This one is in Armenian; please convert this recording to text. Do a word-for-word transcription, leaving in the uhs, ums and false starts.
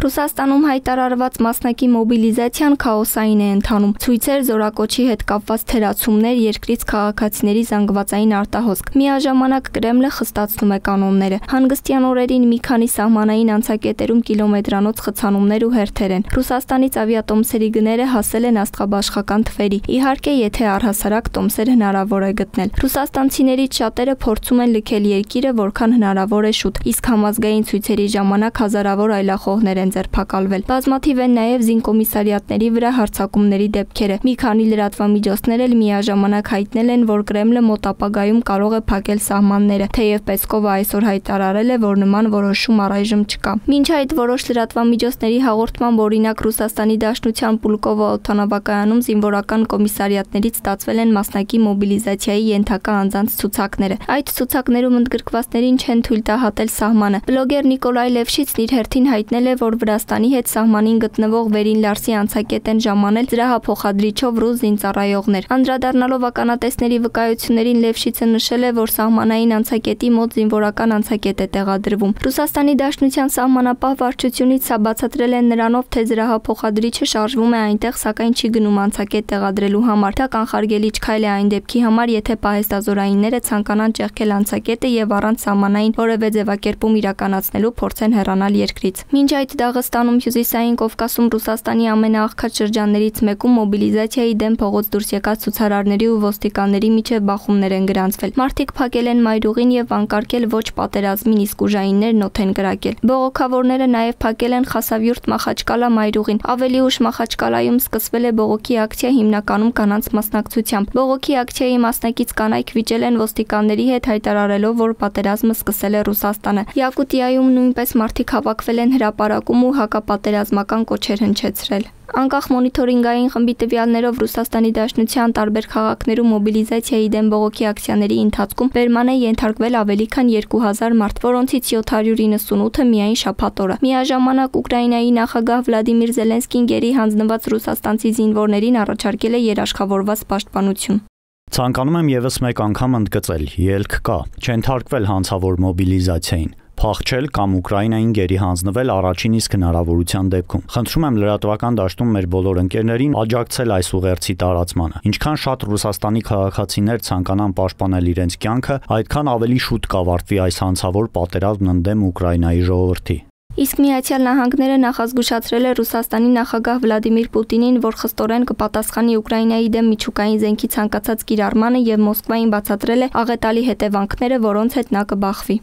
Ռուսաստանում հայտարարված մասնակի մոբիլիզացիան քաոսային է ընթանում։ Ցույցեր, զորակոչի հետ կապված թերացումներ, երկրից քաղաքացիների զանգվածային արտահոսք։ Միաժամանակ Կրեմլը խստացնում է կանոնները։ Հանգստյան օրերին մի քանի սահմանային անցակետերում կիլոմետրանոց խցանումներ ու հերթեր են։ Ռուսաստանից ավիատոմսերի գները հասել են աստղաբաշխական թվերի։ Իհարկե, եթե առհասարակ տոմսեր հնարավոր է գտնել։ Ռուսաստանցիներից շատերը փորձում են լքել երկիրը որքան հնարավոր է շուտ, իսկ համազգային ցույցերի ժամանակ հազարավոր այլախոհներ են ձերբակալվել։ Բազմաթիվ են նաև զինկոմիսարիատների վրա հարձակումների դեպքերը։ Մի քանի լրատվամիջոցներ էլ միաժամանակ հայտնել են, որ Կրեմլը մոտ ապագայում կարող է փակել սահմանները, թեև Պեսկովը այսօր հայտարարել է, որ նման որոշում առայժմ չկա։ Մինչ այդ որոշ լրատվամիջոցների հաղորդմամբ, օրինակ Ռուսաստանի Դաշնության Պուլկովո օդանավակայանում զինվորական կոմիսարիատներից ստացվել են մասնակի մոբիլիզացիայի ենթակա անձանց ցուցակները։ Այդ ցուցակներում ընդգրկվածներին չեն թույլ տա հատել սահմանը։ Բլոգեր Նիկոլայ Լևշիցն իր հերթին հայտնել է, որ Վրաստանի հետ սահմանին գտնվող Վերին Լարսի անցակետ են ժամանել զրահափոխադրիչով ռուս զինծառայողներ։ Անդրադառնալով ականատեսների վկայություններին, Լևշիցը նշել է, որ սահմանային անցակետի մոտ զինվորական անցակետ է տեղադրվում։ Ռուսաստանի Դաշնության սահմանապահ վարչությունից սա բացատրել են նրանով, թե զրահափոխադրիչը շարժվում է այնտեղ, սակայն չի գնում անցակետ տեղադրելու համար։ Դա կանխարգելիչ քայլ է այն դեպքի համար, եթե պահեստազորայինները ցանկանան ճեղքել անցակետը եւ առանց սահմանային որևէ ձևակերպում իրականացնելու փորձեն հեռանալ երկրից։ Մինչ այդ Դաղստանում, Հյուսիսային Կովկասում, Ռուսաստանի ամենաաղքատ շրջաններից մեկում մոբիլիզացիայի դեմ փողոց դուրս եկած ցուցարարների ու ոստիկանների միջև բախումներ են գրանցվել։ Մարդիկ փակել են մայրուղին եւ վանկարկել ոչ պատերազմին, իսկ ուժայիններն օդ են կրակել։ Բողոքավորները նաեւ փակել են Խասավյուրտ Մախաչկալա մայրուղին։ Ավելի ուշ Մախաչկալայում սկսվել է բողոքի ակցիա, հիմնականում կանանց մասնակցությամբ։ Բողոքի ակցիայի մասնակից կանայք վիճել են ոստիկանների հետ, հայտարարելով, որ պատերազմը սկսել է Ռուսաստանը։ Յակուտիայում նույնպես մարդիկ հավաքվել են հրապարակում ու հակապատերազմական կոչեր հնչեցրել։ Անկախ մոնիթորինգային խմբի տվյալներով Ռուսաստանի Դաշնության տարբեր քաղաքներում մոբիլիզացիայի դեմ բողոքի ակցիաների ընթացքում բերման է ենթարկվել ավելի քան երկու հազար մարդ, որոնցից յոթ հարյուր իննսունութը միայն շաբաթ օրը։ Միաժամանակ Ուկրաինայի նախագահ Վլադիմիր Զելենսկին գերի հանձնված ռուսաստանցի զինվորներին առաջարկել է երաշխավորված պաշտպանություն։ Ցանկանում եմ եւս մեկ անգամ ընդգծել, ելք կա, չընթարկվել հանցավոր մոբիլիզացիային, փախչել կամ Ուկրաինային գերի հանձնվել առաջին իսկ հնարավորության դեպքում։ Խնդրում եմ լրատվական դաշտում մեր բոլոր ընկերներին աջակցել այս ուղերձի տարածմանը։ Ինչքան շատ Ռուսաստանի քաղաքացիներ ցանկանան պաշտպանել իրենց կյանքը, այդքան ավելի շուտ կավարտվի այս հանցավոր պատերազմն ընդդեմ Ուկրաինայի ժողովրդի։ Իսկ Միացյալ Նահանգները նախազգուշացրել է Ռուսաստանի նախագահ Վլադիմիր Պուտինին, որ խստորեն կպատասխանի Ուկրաինայի դեմ միջուկային զենքի ցանկացած կիրառմանը եւ Մոսկվային բացատրել է աղետալի հետևանքները, որոնց հետ նա կբախվի։